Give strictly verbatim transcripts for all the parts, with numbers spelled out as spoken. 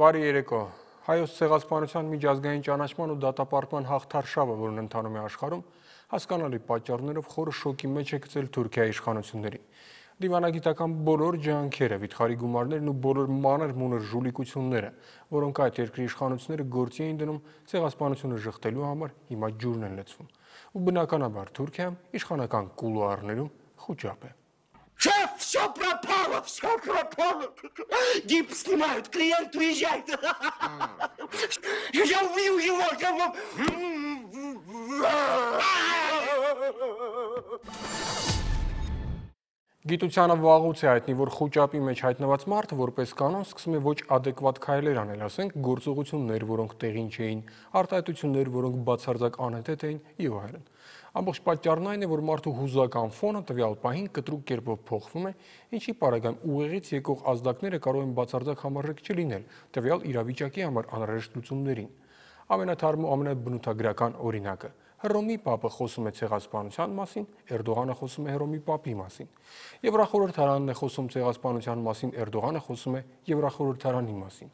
Բարի երեկո։ Հայոց ցեղասպանության միջազգային ճանաչման ու դատապարտման հաղթարշավը, որն ընթանում է աշխարհում, հասկանալի պատճառներով խորը շոկի մեջ է գցել Թուրքիայի իշխանություններին։ Դիվանագիտական բոլոր ջանքերը, վիթխարի գումարներն ու բոլոր մանր մունր ժուլիկությունները, որոնք այդ երկրի իշխանությունները գործի էին դնում ցեղասպանությունը ժխտելու համար, հիմա ջուրն են լցվում։ Ու բնականաբար Թուրքիայում իշխանական կուլուարներում խուճապ է։ Шеф, все пропало, все пропало. Гипс снимают, клиент уезжает. Я убью его. Գիտությանը վաղուց է հայտնի, որ խուճապի մեջ հայտնված մարդը որպես կանոն սկսում է ոչ adekvat քայլեր անել, ասենք գործողություններ, որոնք տեղին չէին, արտահայտություններ, որոնք բացարձակ անհեթեթ էին եւ այլն։ Ամբողջ պատճառն այն է, որ մարդու հուզական ֆոնը տվյալ պահին կտրուկ կերպով փոխվում է, ինչի պարագայում ուղեղից եկող ազդակները կարող են բացարձակ համարժեք չլինել տվյալ իրավիճակի համար անհրաժեշտ լուծումներին։ Ամենաթարմ ու ամենաբնութագրական օրինակը Հռոմի Պապը խոսում է ցեղասպանության մասին, Էրդողանը խոսում է Հռոմի Պապի մասին։ Եվրախորհրդարանն է խոսում ցեղասպանության մասին, Էրդողանը խոսում է Եվրախորհրդարանի մասին։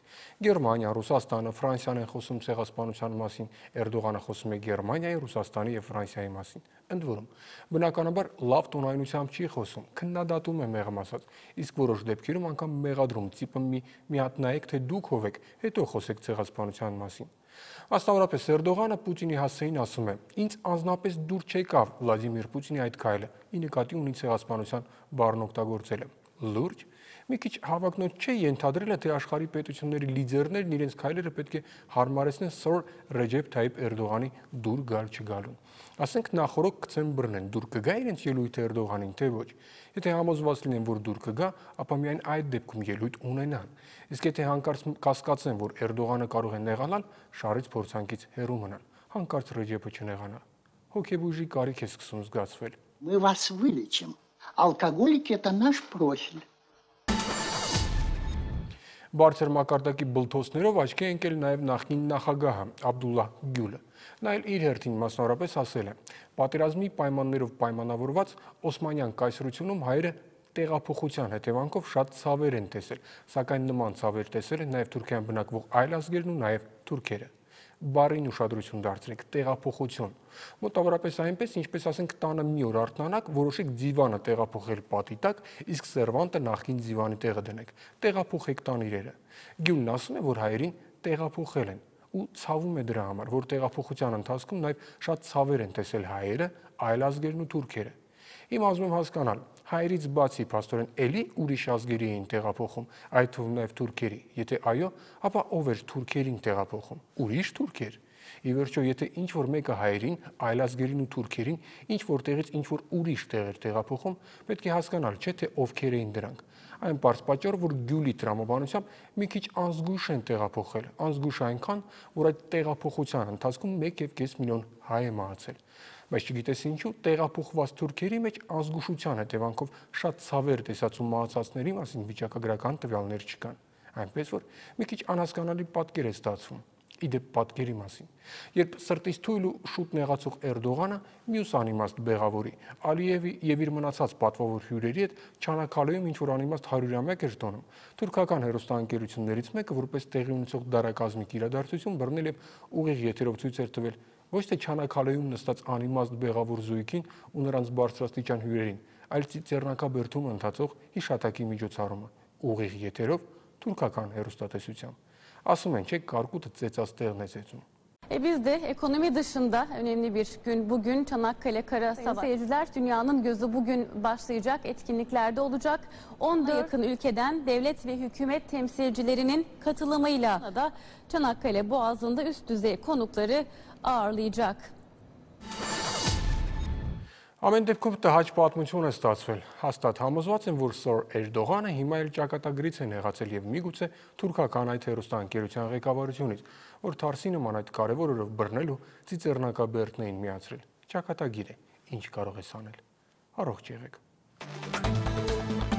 Գերմանիա, Ռուսաստանը, Ֆրանսիան են խոսում ցեղասպանության մասին, Էրդողանը խոսում է Գերմանիայի, Ռուսաստանի եւ Ֆրանսիայի մասին։ Ընդ որում, բնականաբար լավ տոնայնությամբ չի խոսում, քննադատում է մեղմ ասած, իսկ որոշ դեպքերում անգամ մեղադրում, տիպը մի մի հատ նայեք, թե դուք ով եք, հետո խոսեք ցեղասպանության մասին։ Մասնավորապես Էրդողանը Պուտինի հասցեին ասում է. «Ինձ անձնապես դուր չեկավ Վլադիմիր Պուտինի այդ քայլը, ի նկատի ունի ցեղասպանության բառն օգտագործելը»։ Լուրջ, մի քիչ հավակնոտ չէ ենթադրելը, թե աշխարհի պետությունների լիդերներն իրենց քայլերը պետք է հարմարեցնեն Սր Ռեջեփ Թայիփ Էրդողանի դուր գալ չգալուն։ Ասենք նախորոք գցեն բռնեն, դուր կգա իրենց ելույթը Էրդողանին, թե ոչ։ Եթե համոզված լինեն, որ դուր կգա, ապա միայն այդ դեպքում ելույթ ունենան։ Իսկ եթե հանկարծ կասկածեն, որ Էրդողանը կարող է նեղանալ, շարից փորձանքից հեռու մնան, հանկարծ Ռեջեփը չնեղանա։ Հոգեբույժի կարիք է սկսում զգացվել։ Мы вас вылечим. Алкоголики это наш профиль. Բարձր մակարդակի բլթոցներով աչքի է ընկել նաև նախկին նախագահը Աբդուլլահ Գյուլը։ Նա էլ իր հերթին մասնավորապես ասել է. պատերազմի պայմաններով պայմանավորված Օսմանյան կայսրությունում հայերը տեղափոխության հետևանքով շատ ցավեր են տեսել, սակայն նման ցավեր տեսել են նաև Թուրքիայում բնակվող այլ ազգերն ու նաև թուրքերը։ Բառին ուշադրություն դարձրեք, տեղափոխություն։ Մոտավորապես այնպես, ինչպես ասենք տանը մի օր արթնանաք, որոշեք ձիվանը տեղափոխել պատի տակ, իսկ սերվանտը նախքին ձիվանի տեղը դնեք։ Տեղափոխեք տան իրերը։ Գյուլն ասում է, որ հայերին տեղափոխել են ու ցավում է դրա համար, որ տեղափոխության ընթացքում նաև շատ ցավեր են տեսել հայերը, այլ ազգերն ու թուրքերը։ Իմ ուզում եմ հասկանալ, հայերից բացի փաստորեն էլի ուրիշ ազգերի էին տեղափոխում, այդ թվում նաև թուրքերի։ Եթե այո, ապա ով էր թուրքերին տեղափոխում։ Ուրիշ թուրքեր։ Ի վերջո, եթե ինչ որ մեկը հայերին, այլ ազգերին ու թուրքերին ինչ որտեղից ինչ որ ուրիշ տեղ էր տեղափոխում, պետք է հասկանալ, չէ՞ թե ովքեր էին դրանք։ Այն պարզ պատճառով, որ Գյուլի տրամաբանությամբ մի քիչ անզգույշ են տեղափոխել, անզգույշ այնքան, որ այդ տեղափոխության ընթացքում մեկ եւ կես միլիոն հայ է մահացել։ Բայց չգիտես ինչու, տեղափոխված թուրքերի մեջ ազգուշության հետևանքով շատ ցավեր տեսած ու մահացածների մասին վիճակագրական տվյալներ չկան։ Այնպես որ մի քիչ անհասկանալի պատկեր է ստացվում։ Իդեպ պատկերի մասին։ Երբ սրտից թույլ ու շուտ նեղացող Էրդողանը մյուս անիմաստ բեղավորի Ալիևի եւ իր մնացած պատվավոր հյուրերի հետ Չանաքալեում ինչ որ անիմաստ հարյուրամյակ էր տոնում, թուրքական հերոստանգերություններից մեկը որպես տեղի ունեցող դարակազմիկ իրադարձություն բռնել եւ ուղիղ եթերով ցույց էր տվել ոչ թե Չանաքալեում նստած անիմաստ բեղավոր զույգին ու նրանց բարձրաստիճան հյուրերին, այլ ծիծեռնակաբերդում ընթացող հիշատակի միջոցառումը ուղիղ եթերով թուրքական հերոստատեսությամբ։ Asım en çek karkutu tsetsastığ nesetun. E biz de ekonomi dışında önemli bir gün bugün Çanakkale Kara Savaşı. Seyirciler, dünyanın gözü bugün başlayacak etkinliklerde olacak. on dört yakın ülkeden devlet ve hükümet temsilcilerinin katılımıyla da Çanakkale Boğazı'nda üst düzey konukları ağırlayacak. Ամեն դեպքում տհաճ պատմություն է ստացվել։ Հաստատ համոզված եմ, որ Սր Էրդողանը հիմա էլ ճակատագրից է նեղացել եւ միգուցե թուրքական այդ հերոստանգերության ղեկավարությունից, որ Թարսի նման այդ կարևոր օրով բռնել ու ծիծեռնակաբերդն էին միացրել։ Ճակատագիր է, ինչ կարող ես անել։ Առողջ եղեք։